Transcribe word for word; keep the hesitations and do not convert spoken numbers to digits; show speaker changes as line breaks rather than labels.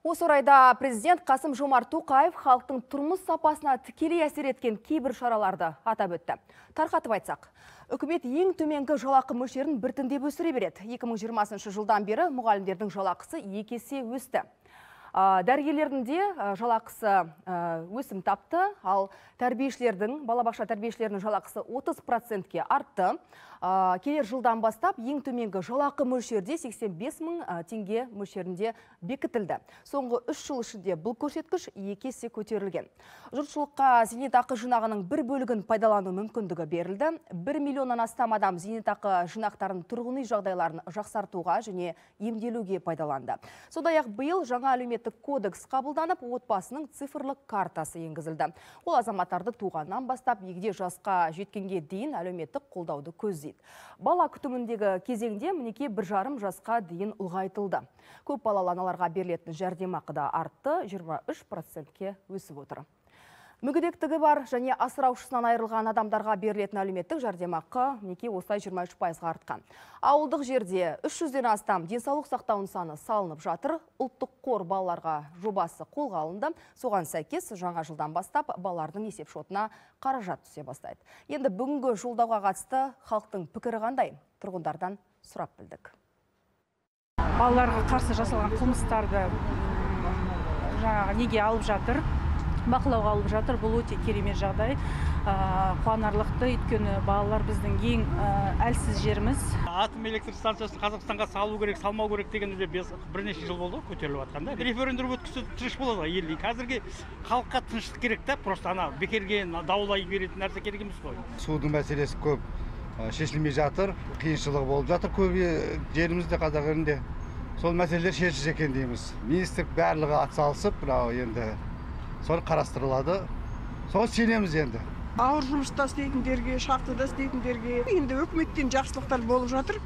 Осы орайда президент Қасым-Жомарт Тоқаев халықтың тұрмыс сапасына тікелей әсер еткен кейбір шараларды атап өтті. Тарқатып айтсақ, үкімет ең төменгі жалақы мөлшерін біртіндеп өсіре береді. екі мың жиырмасыншы жылдан бері мұғалімдердің жалақысы екі есе өсті. Дәрігерлердің де жалақысы өсім тапты, ал тәрбиешілердің, балабақша тәрбиешілерінің жалақысы отыз процентке артты. Келер жылдан бастап ең төменгі жалақы мөлшерде сексен бес мың теңге мөлшерінде бекітілді. Соңғы үш жыл ішінде бұл көрсеткіш екі есе көтерілген. Жұртшылыққа зейнетақы жинағының бір бөлігін пайдалану мүмкіндігі берілді. бір миллионнан астам адам зейнетақы жинақтарын тұрғын үй жағдайларын жақсартуға және емделуге пайдаланды. Сондай-ақ биыл жаңа әлеуметтік кодекс қабылданып, отбасының цифрлық картасы енгізілді. Ол азаматтарды туғаннан бастап егде жасқа жеткенге дейін әлеуметтік қолдауды көздейді. Бала күтіміндегі кезеңде мінеки бір жарым жасқа дейін ұлғайтылды. Көп балалы аналарға берілетін жәрдемақы да артты, жиырма үш процентке өсіп отыр. Мүгедектігі бар және асыраушысынан айырылған адамдарға берілетін әлеуметтік жәрдемақы мінеки осылай жиырма үш пайызға артқан. Ауылдық жерде үш жүзден астам денсаулық сақтау нысаны салынып жатыр. Ұлттық қор балаларға жобасы қолға алынды. Соған сәйкес жаңа жылдан бастап балалардың есеп шотына қаражат түсе бастайды. Енді бүгінгі жолдауға қатысты халықтың пікірі қандай? Тұрғындардан сұрап білдік.
Балаларға қарсы жасалған қылмыстарды жаңағы неге алып жатыр? Бақылауға алып жатыр. Бұл өте керемет жағдай. Қуанарлықты, өйткені балалар біздің ең әлсіз жеріміз.
Атом электр станциясын Қазақстанға салу керек, салмау керек деген бірнеше жыл болды көтеріліп жатқанда. Референдум өткізсе тыныш болады ел. Қазіргі халыққа тыныштық керек та, просто ана бекерге даулай беретін нәрсе керек емес қой.
Судың мәселесі көп шешілмей жатыр, қиыншылығы болып жатыр көп жерімізде, қазақ елінде. Сол мәселелер шешілсе екен дейміз. Министрлік барлығы атсалысып, мынау енді сол қарастырылады. Сол сенеміз енді.
Ауыр жұмыста істейтіндерге, шахтада істейтіндерге енді өкіметтен жақсылықтар болып жатыр.